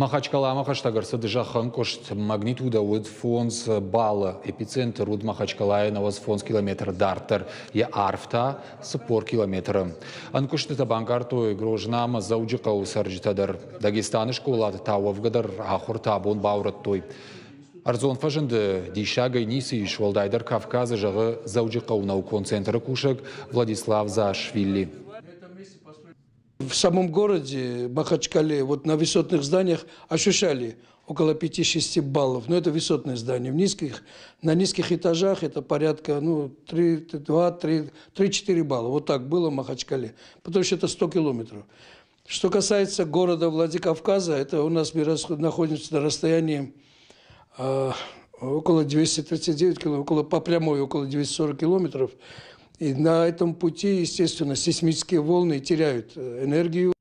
Махачкаламӕ хӕстӕг ӕрцыд зӕххӕнкъуыст. Магнитудӕ уыд 5 баллы. Эпицентр уыд Махачкалайы 95 километры дарддӕр. Йӕ арф та 40 километры. Ӕнкъуыстытӕ банкъардтой Грозна ӕмӕ Дзӕуджыхъӕуы цӕрджытӕ дӕр. Дагестаны скъолаты та уӕвгӕ дӕр ахуыртӕ абон баурӕдтой. Ӕрдзон фӕзынды диссагӕй ницы ис, уӕлдайдӕр Кавказы, зӕгъы Дзӕуджыхъӕуы наукон центры кусӕг Владислав Заашвили. В самом городе Махачкале, вот на высотных зданиях ощущали около 5-6 баллов. Но это высотные здания. На низких этажах это порядка, ну, 3, 2, 3, 3-4 балла. Вот так было в Махачкале. Потому что это 100 километров. Что касается города Владикавказа, это у нас мы находимся на расстоянии около 239 километров, около, по прямой около 240 километров. И на этом пути, естественно, сейсмические волны теряют энергию.